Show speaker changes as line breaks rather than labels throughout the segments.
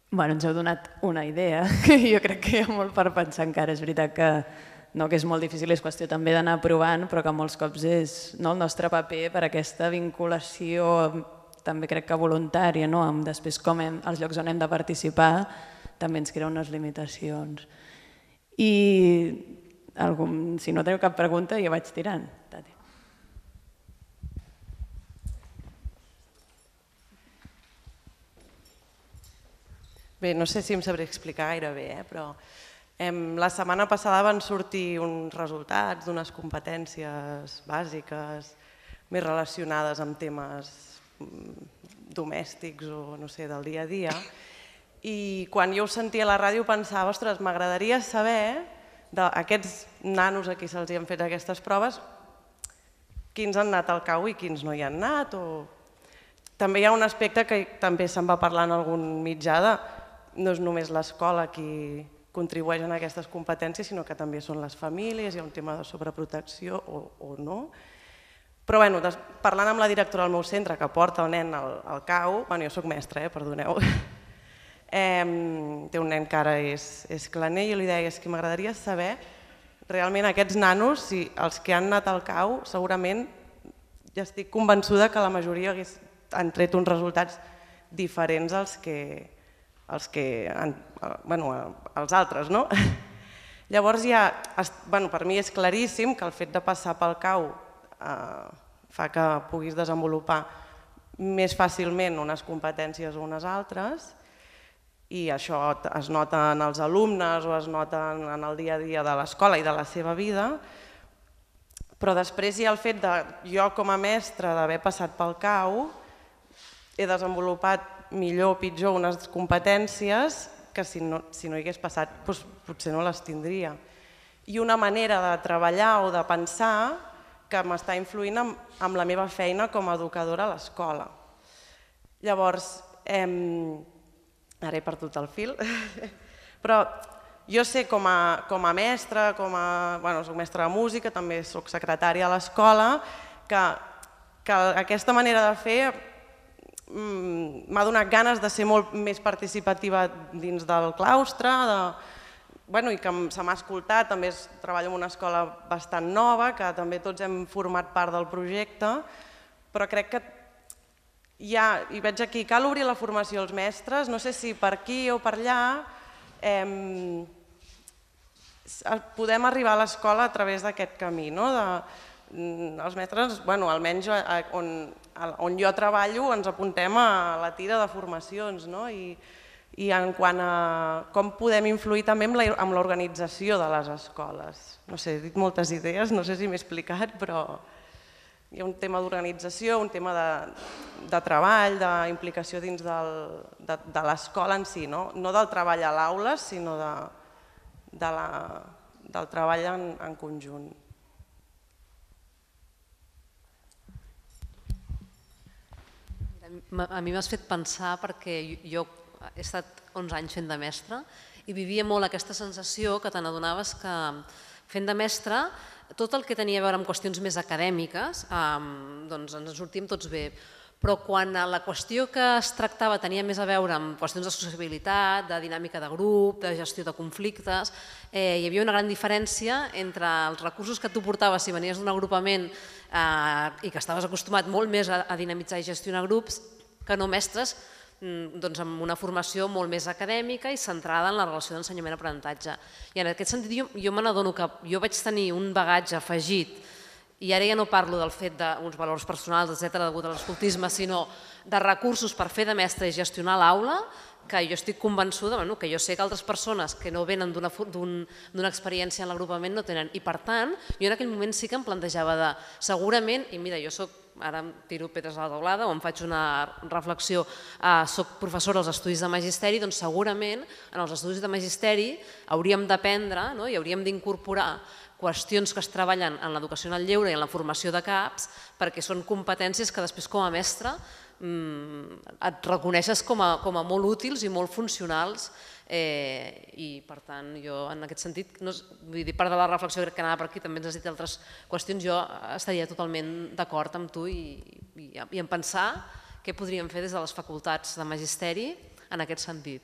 Ens heu donat una idea, que jo crec que hi ha molt per pensar encara. És veritat que és molt difícil, és qüestió també d'anar provant, però que molts cops és el nostre paper per aquesta vinculació, també crec que voluntària, després com els llocs on hem de participar també ens crea unes limitacions. I si no teniu cap pregunta jo vaig tirant. Tati.
Bé, no sé si em sabré explicar gaire bé, però la setmana passada van sortir uns resultats d'unes competències bàsiques més relacionades amb temes domèstics o no sé, del dia a dia, i quan jo ho sentia a la ràdio pensava, ostres, m'agradaria saber d'aquests nanos a qui se'ls han fet aquestes proves quins han anat al CAU i quins no hi han anat. També hi ha un aspecte que també se'n va parlar en algun mitjà de no és només l'escola qui contribueix a aquestes competències, sinó que també són les famílies, hi ha un tema de sobreprotecció o no. Però parlant amb la directora del meu centre, que porta el nen al CAU, jo soc mestra, perdoneu, té un nen que ara és claner, i jo li deia que m'agradaria saber realment aquests nanos, si els que han anat al CAU, segurament ja estic convençuda que la majoria han tret uns resultats diferents als altres. Llavors, per mi és claríssim que el fet de passar pel CAU fa que puguis desenvolupar més fàcilment unes competències o unes altres, i això es nota en els alumnes o es nota en el dia a dia de l'escola i de la seva vida, però després hi ha el fet de jo com a mestra d'haver passat pel CAU he desenvolupat millor o pitjor unes competències que si no hi hagués passat potser no les tindria. I una manera de treballar o de pensar que m'està influint en la meva feina com a educadora a l'escola. Llavors, ara he perdut el fil, però jo sé com a mestra, soc mestra de música, també soc secretària a l'escola, que aquesta manera de fer m'ha donat ganes de ser molt més participativa dins del claustre i que se m'ha escoltat. També treballo en una escola bastant nova, que també tots hem format part del projecte, però crec que i veig aquí, cal obrir la formació als mestres, no sé si per aquí o per allà podem arribar a l'escola a través d'aquest camí. Els mestres, almenys on jo treballo, ens apuntem a la tira de formacions i en quant a com podem influir també amb l'organització de les escoles. No sé, he dit moltes idees, no sé si m'he explicat, però hi ha un tema d'organització, un tema de treball, d'implicació dins de l'escola en si, no del treball a l'aula, sinó del treball en conjunt.
A mi m'has fet pensar perquè jo he estat 11 anys fent de mestra i vivia molt aquesta sensació que te n'adonaves que fent de mestra tot el que tenia a veure amb qüestions més acadèmiques ens en sortíem tots bé, però quan la qüestió que es tractava tenia més a veure amb qüestions de sociabilitat, de dinàmica de grup, de gestió de conflictes, hi havia una gran diferència entre els recursos que tu portaves si venies d'un agrupament i que estaves acostumat molt més a dinamitzar i gestionar grups que no mestres amb una formació molt més acadèmica i centrada en la relació d'ensenyament-aprenentatge. I en aquest sentit jo me n'adono que jo vaig tenir un bagatge afegit, i ara ja no parlo del fet d'uns valors personals, etcètera, degut a l'escoltisme, sinó de recursos per fer de mestre i gestionar l'aula, que jo estic convençuda, que jo sé que altres persones que no venen d'una experiència en l'agrupament no tenen. I per tant, jo en aquell moment sí que em plantejava de, segurament, i mira, jo soc, ara em tiro pedres a la taulada o em faig una reflexió, soc professora als estudis de magisteri, doncs segurament en els estudis de magisteri hauríem d'aprendre i hauríem d'incorporar qüestions que es treballen en l'educació en el lleure i en la formació de CAPs, perquè són competències que després com a mestre et reconeixes com a molt útils i molt funcionals, i per tant jo en aquest sentit, part de la reflexió crec que anava per aquí, també ens has dit altres qüestions, jo estaria totalment d'acord amb tu i en pensar què podríem fer des de les facultats de magisteri en aquest sentit.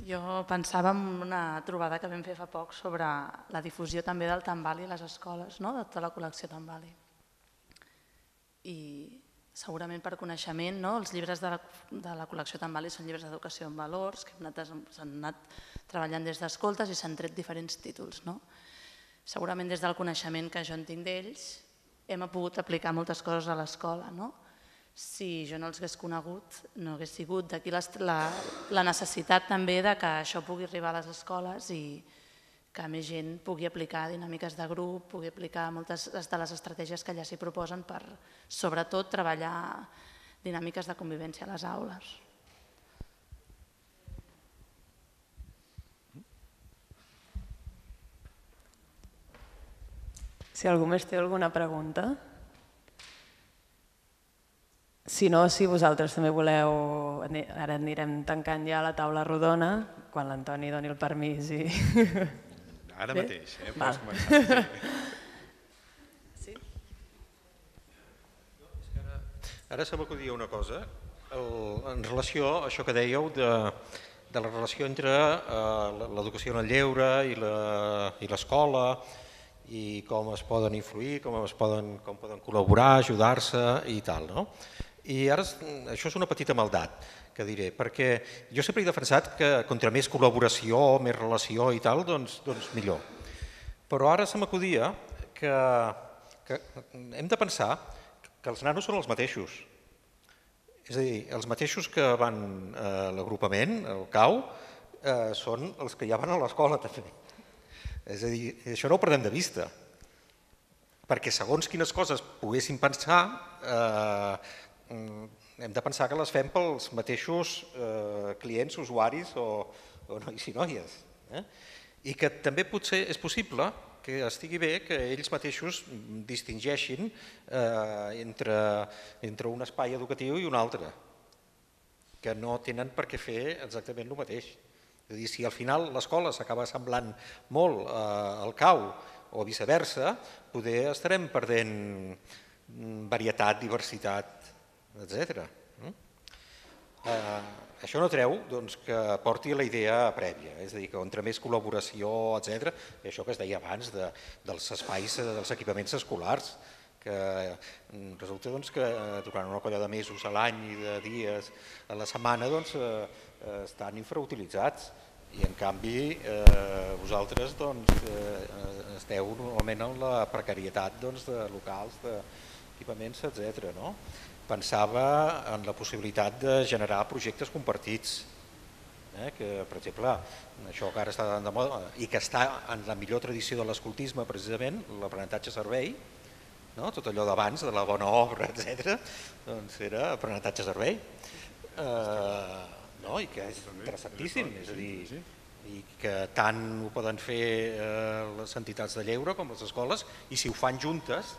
Jo pensava en una trobada que vam fer fa poc sobre la difusió també del Tambali a les escoles, de tota la col·lecció Tambali. I segurament per coneixement, els llibres de la col·lecció Tambali són llibres d'educació en valors que s'han anat treballant des d'escoltes i s'han tret diferents títols. Segurament des del coneixement que jo en tinc d'ells hem pogut aplicar moltes coses a l'escola. Si jo no els hagués conegut, no hagués sigut d'aquí la necessitat també que això pugui arribar a les escoles i que més gent pugui aplicar dinàmiques de grup, pugui aplicar moltes de les estratègies que allà s'hi proposen per, sobretot, treballar dinàmiques de convivència a les aules.
Si algú més té alguna pregunta? Si no, si vosaltres també voleu, ara anirem tancant ja la taula rodona, quan l'Antoni doni el permís.
Ara mateix, pots començar. Ara se m'acudia una cosa, en relació a això que dèieu de la relació entre l'educació en el lleure i l'escola, i com es poden influir, com poden col·laborar, ajudar-se i tal. I ara això és una petita maldat que diré, perquè jo sempre he defensat que contra més col·laboració, més relació i tal, doncs millor. Però ara se m'acudia que hem de pensar que els nanos són els mateixos. És a dir, els mateixos que van a l'agrupament, al CAU, són els que ja van a l'escola també. És a dir, això no ho perdem de vista, perquè segons quines coses poguéssim pensar, hem de pensar que les fem pels mateixos clients, usuaris o nois i noies. I que també potser és possible que estigui bé que ells mateixos distingeixin entre un espai educatiu i un altre, que no tenen per què fer exactament el mateix. És a dir, si al final l'escola s'acaba semblant molt al CAU o viceversa, poder estarem perdent varietat, diversitat, etc. Això no treu que porti a la idea prèvia, és a dir, que entre més col·laboració, etc., això que es deia abans dels espais, dels equipaments escolars, que resulta que durant una colla de mesos a l'any i de dies a la setmana estan infrautilitzats i en canvi vosaltres esteu normalment en la precarietat de locals, d'equipaments, etc. Pensava en la possibilitat de generar projectes compartits, que per exemple això que ara està de moda i que està en la millor tradició de l'escoltisme precisament, l'aprenentatge-servei, tot allò d'abans, de la bona obra, etc., doncs era aprenentatge-servei, i que és interessantíssim, és a dir, i que tant ho poden fer les entitats de lleure com les escoles, i si ho fan juntes,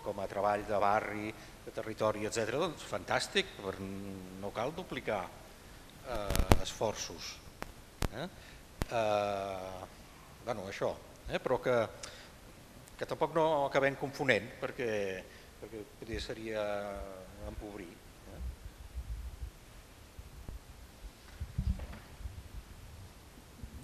com a treball de barri, de territori, etc., doncs fantàstic, no cal duplicar esforços. Això, però que tampoc no acabem confonent, perquè potser seria empobrir.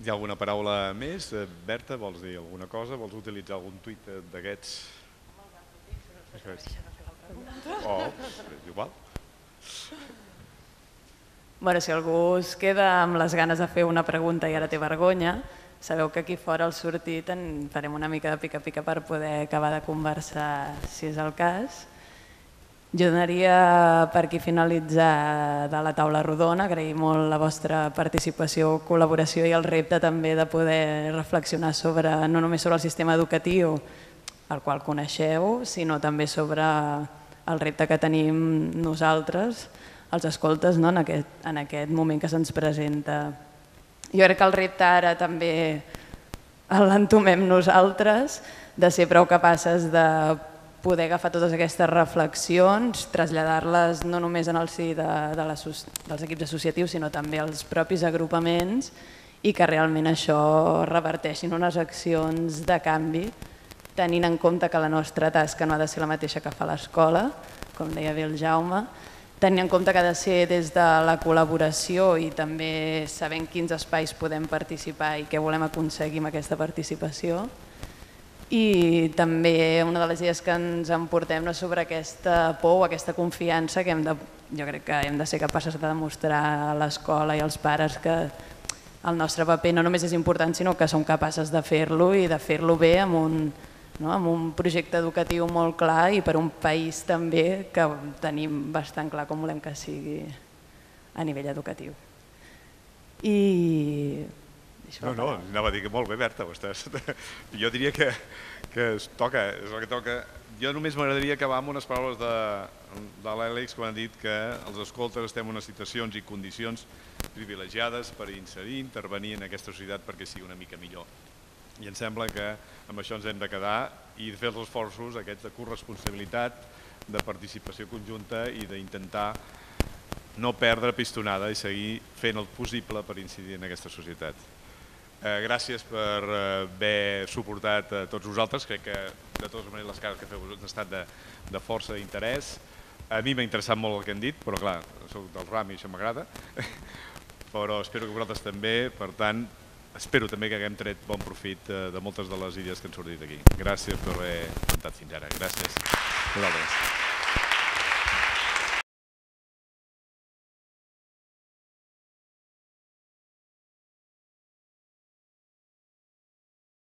Hi ha alguna paraula més? Berta, vols dir alguna cosa? Vols utilitzar algun tuit d'aquests? És igual.
Si algú es queda amb les ganes de fer una pregunta i ara té vergonya, sabeu que aquí fora al sortit en farem una mica de pica-pica per poder acabar de conversar, si és el cas. Jo donaria per aquí finalitzar de la taula rodona, agrair molt la vostra participació, col·laboració i el repte també de poder reflexionar no només sobre el sistema educatiu, el qual coneixeu, sinó també sobre el repte que tenim nosaltres, els escoltes, en aquest moment que se'ns presenta. Jo crec que el repte ara també l'entomem nosaltres, de ser prou capaces de poder agafar totes aquestes reflexions, traslladar-les no només en el si dels equips associatius, sinó també als propis agrupaments i que realment això reverteixin unes accions de canvi, tenint en compte que la nostra tasca no ha de ser la mateixa que fa l'escola, com deia bé el Jaume, tenint en compte que ha de ser des de la col·laboració i també sabent quins espais podem participar i què volem aconseguir amb aquesta participació. I també una de les idees que ens emportem és sobre aquesta por o aquesta confiança que jo crec que hem de ser capaces de demostrar a l'escola i als pares que el nostre paper no només és important, sinó que som capaces de fer-lo i de fer-lo bé amb un projecte educatiu molt clar i per un país també que tenim bastant clar com volem que sigui a nivell educatiu.
No, anava a dir que molt bé, Berta, jo diria que es toca, és el que toca. Jo només m'agradaria acabar amb unes paraules de l'Àlex quan ha dit que els escoltes estem en unes situacions i condicions privilegiades per incidir, intervenir en aquesta societat perquè sigui una mica millor. I em sembla que amb això ens hem de quedar i fer els esforços aquests de corresponsabilitat, de participació conjunta i d'intentar no perdre pistonada i seguir fent el possible per incidir en aquesta societat. Gràcies per haver suportat a tots vosaltres. Crec que de totes maneres les cares que feu han estat de força interès. A mi m'ha interessat molt el que han dit, però clar, soc del RAM i això m'agrada. Però espero que vosaltres també, per tant, espero també que haguem tret bon profit de moltes de les idees que han sortit aquí. Gràcies per haver comptat fins ara. Gràcies. Vosaltres.